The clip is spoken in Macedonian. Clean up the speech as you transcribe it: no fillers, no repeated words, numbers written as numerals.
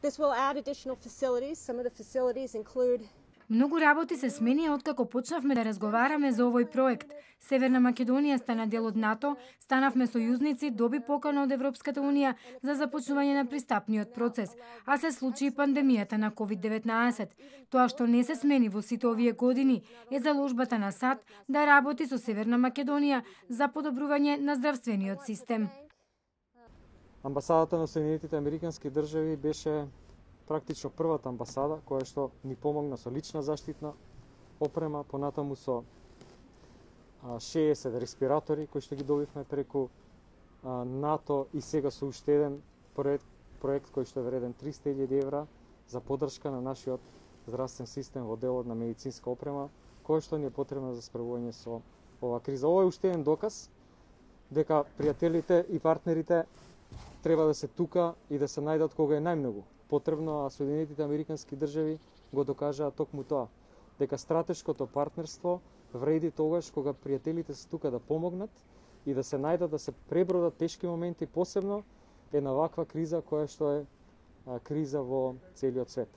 This will add additional facilities. Some of the facilities include Многу работи се сменија откако почнавме да разговараме за овој проект. Северна Македонија стана дел од НАТО, станавме сојузници, доби покана од Европската унија за започнување на пристапниот процес, а се случи и пандемијата на COVID-19. Тоа што не се смени во сите овие години е заложбата на САД да работи со Северна Македонија за подобрување на здравствениот систем. Амбасадата на Соединетите Американски држави беше практично првата амбасада која што ни помогна со лична заштитна опрема, понатаму со 60 респиратори кои што ги добивме преку НАТО и сега со уште еден проект кој што е вреден 300.000 евра за поддршка на нашиот здравствен систем во делот на медицинска опрема која што ни е потребна за справување со оваа криза. Ова е уште еден доказ дека пријателите и партнерите треба да се тука и да се најдат кога е најмногу потребно, а Соединетите Американски држави го докажаа токму тоа, дека стратешкото партнерство вреди тогаш кога пријателите се тука да помогнат и да се најдат да се пребродат тешки моменти, посебно е на ваква криза која што е криза во целиот свет.